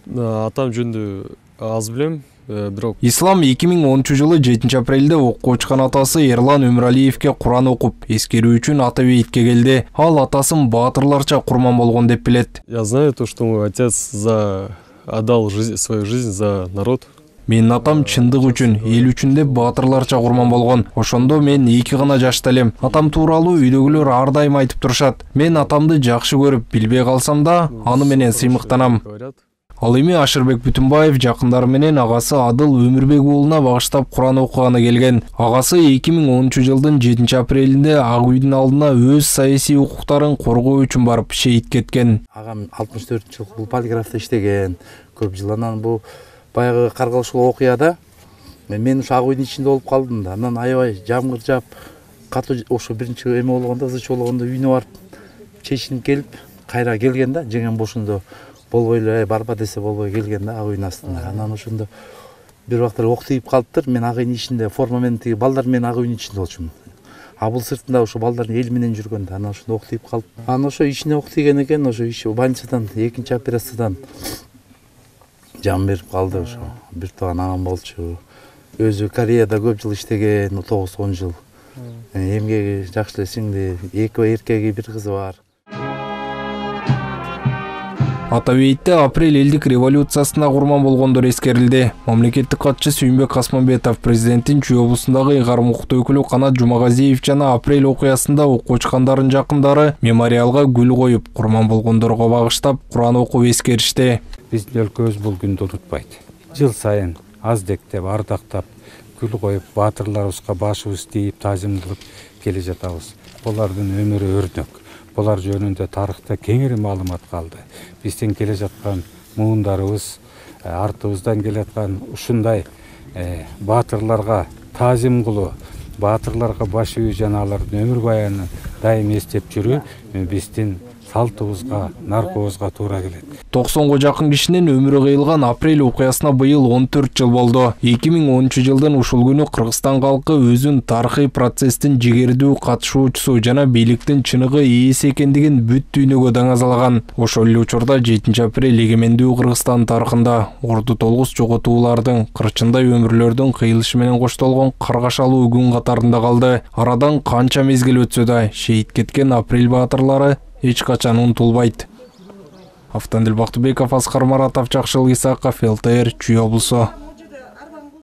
Атам жөнүндө аз билем, бирок Ислам 2010-жылы 7 апрелде окко учкан атасы Эрлан Өмүралиевке Куран окуп, эскерүү үчүн Ата бейитке келди. Ал атасын баатырларча курман болгон деп билет. Я знаю то, что мой отец отдал свою жизнь за народ. Менин атам чындык үчүн, эл үчүн деп баатырларча курман болгон. Ошондо мен 2 гана жашта элем. Атам тууралуу үйдөгүлөр ар дайым айтып турушат. Мен атамды жакшы көрүп, билбей калсам да, аны менен сыймыктанам. Ал эми Ашырбек Бүтүнбаев жакындары менен агасы Адыл Өмүрбек уулуна багыштап Куран окуганы келген. Агасы 2010-жылдын 7 апрелинде Ак үйдүн алдына өз саясий укуктарын коргоо үчүн барып шейит кеткен. Агам 64 жыл бул полиграфта иштеген. Көп жыл анан бул баягы каргалышуу окуяда мен ушу Ак үйдүн ичинде болуп калдым да. Анан аябай жамгыр жаап, катуу ошо биринчи эме болгондо, ызычы болгондо үйүнө барып чечинип келип, кайра келген да, жеңем бошондо болбой эле, барба десе болбой келген да Ак үйдүн астында. Анан ошондо бир убакта ок тийип калыптыр. Мен Ак үйдүн ичинде форма менен тиги балдар менен Ак үйдүн ичинде болчумун. А бул сыртында ошо балдардын эл менен жүргөн да. Анан ошондо ок тийип калып. Анан ошо ичине ок тийген экен, ошо иш больницадан, экинчи операциядан жан берип калды ошо. Бир тууган агам болчу. Өзү Кореяда көп жыл иштеген, 9-10 жыл. Эмгеги жакшы эле сиңди, 2 эркеги, 1 кызы бар. Ата бейитте апрель элдик революциясына курман болгондор эскерилди. Мамлекеттик катчы Сүйүнбек Касманбетов президенттин Чүй облусундагы ыйгарым укуктуу өкүлү Канат Жумагазиев жана апрель окуясында окуу учкандардын жакындары мемориалга гүл коюп, курман болгондорго багыштап Куран окуп эскеришти. Биздин өлкөбүз бул күндү унутпайт. Жыл сайын аздектеп, ардактап, гүл коюп, баатырларыбызга башыбыз тийип, таазимдеп келе жатабыз. Булардын өмүрү өрнөк. Булар жөнүндө тарыхта кеңири маалымат калды. Бизден келе жаткан муундарыбыз, артыбыздан келе жаткан ушундай баатырларга таазим кылуу, баатырларга баш ийүү жана алардын өмүр баянын дайым эстеп жүрүү биздин салтыбызга, наркыбызга туура келет. 90га жакын кишинин өмүрү кыйылган апрель окуясына быйыл 14 жыл болду. 2010-жылдын ушул күнү Кыргызстан калкы өзүн тарыхый процесстин жигердүү катышуучусу жана бийликтин чыныгы ээси экендигин бүт дүйнөгө даңазалаган. Ошол эле учурда 7 апрель эгемендүү Кыргызстан тарыхында орду толгус жоготуулардын, кырчындай өмүрлөрдүн кыйылышы менен коштолгон каргашалуу күн катарында калды. Арадан канча мезгил өтсө да, шейит кеткен апрель баатырлары эч качан унутулбайт. Автандил Бактыбеков, Аскар Маратов, Жакшылык Исаков, ЛТР, Чүй облусу.